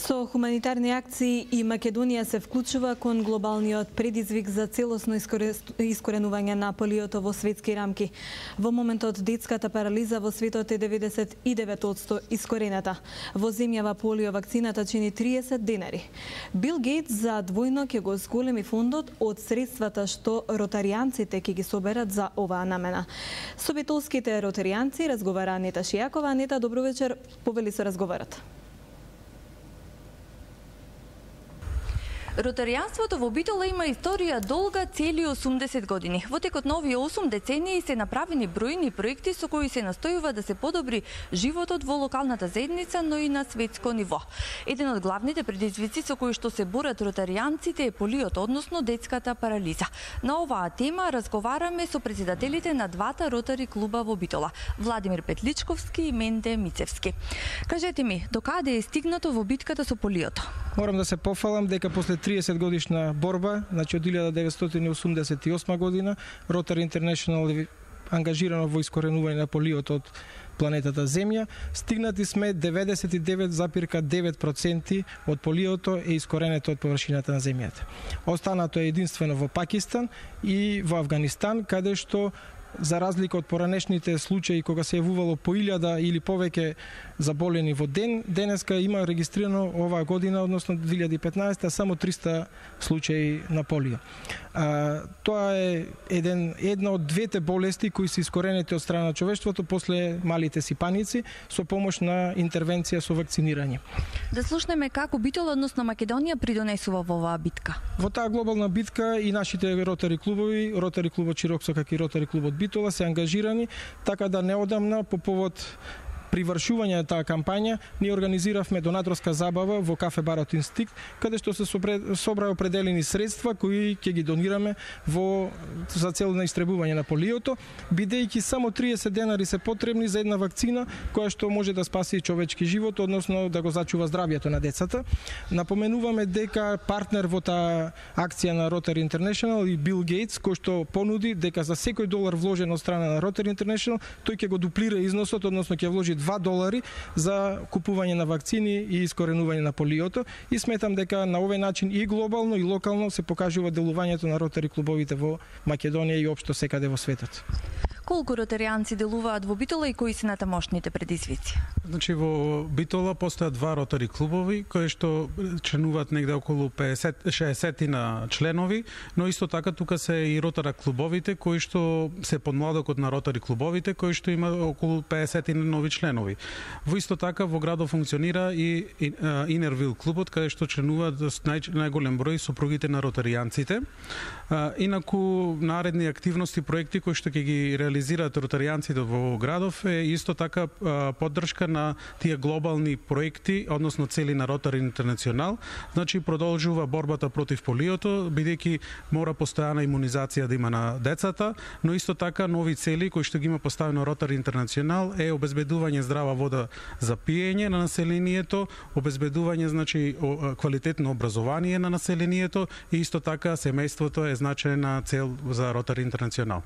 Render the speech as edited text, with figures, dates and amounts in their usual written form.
Со хуманитарни акции и Македонија се вклучува кон глобалниот предизвик за целосно искоренување на полиото во светски рамки. Во моментот детската парализа во светот е 99% искорената. Во земјава полио вакцината чини 30 денари. Бил Гейтс за двојно ќе го зголеми фондот од средствата што ротаријанците ќе ги соберат за оваа намена. Со битолските ротаријанци разговара Анета Шијакова. Анета, добро вечер, повели со разговорот. Ротаријанството во Битола има историја долга цели 80 години. Во текот на овие 8 децении се направени бројни проекти со кои се настојува да се подобри животот во локалната заедница, но и на светско ниво. Еден од главните предизвици со кои што се борат ротаријанците е полиото, односно детската парализа. На оваа тема разговараме со председателите на двата ротари клуба во Битола, Владимир Петличковски и Менде Мицевски. Кажете ми, докаде е стигнато во битката со полиото? Морам да се пофалам дека после 30 годишна борба, значи од 1988 година, Rotary International е ангажирано во искоренување на полиото од планетата Земја. Стигнати сме 99,9% од полиото е искоренето од површината на Земјата. Останато е единствено во Пакистан и во Авганистан, каде што за разлика од поранешните случаи кога се јавувало по 1000 или повеќе заболени во ден, денеска има регистрирано оваа година, односно 2015, само 300 случаи на полио. Тоа е една од двете болести кои се искоренети од страна на човештвото после малите сипаници со помош на интервенција со вакцинирање. Да слушнеме како Битола, односно Македонија, придонесува во оваа битка. Во таа глобална битка и нашите ротари клубови, Ротари клубот Чироксо како и Ротари клубот Битола се ангажирани, така да неодамна по повод привршување на таа кампања, ние организиравме донаторска забава во кафе барот Инстинкт, каде што се собра определени средства кои ќе ги донираме за цел на истребување на полиото, бидејќи само 30 денари се потребни за една вакцина која што може да спаси човечки живот, односно да го зачува здравјето на децата. Напоменуваме дека партнер во таа акција на Rotary International и Бил Гейтс, кој што понуди дека за секој долар вложен од страна на Rotary International, тој ќе го дуплира износот, односно ќе вложи $2 за купување на вакцини и искоренување на полиото, и сметам дека на овој начин и глобално и локално се покажува делувањето на ротари клубовите во Македонија и општо секаде во светот. Колку ротаријанци делуваат во Битола и кои се натамошните предизвици? Значи во Битола постојат два ротари клубови кои што членуваат негде околу 50-60 на членови, но исто така тука се и ротара клубовите кои што се подмладокот на ротари клубовите кои што има околу 50 нови членови. Во исто така во градот функционира и Инервил клубот каде што членуваат најголем број сопругите на ротаријанците. Инаку наредни активности, проекти кои што ќе ги реализираат ротаријанците во градов е исто така поддршка на тие глобални проекти, односно цели на Rotary International. Значи продолжува борбата против полиото, бидејќи мора постојана имунизација да има на децата, но исто така нови цели кои што ги има поставено Rotary International е обезбедување здрава вода за пиење на населението, обезбедување значи квалитетно образование на населението и исто така семејството е значајна цел за Rotary International.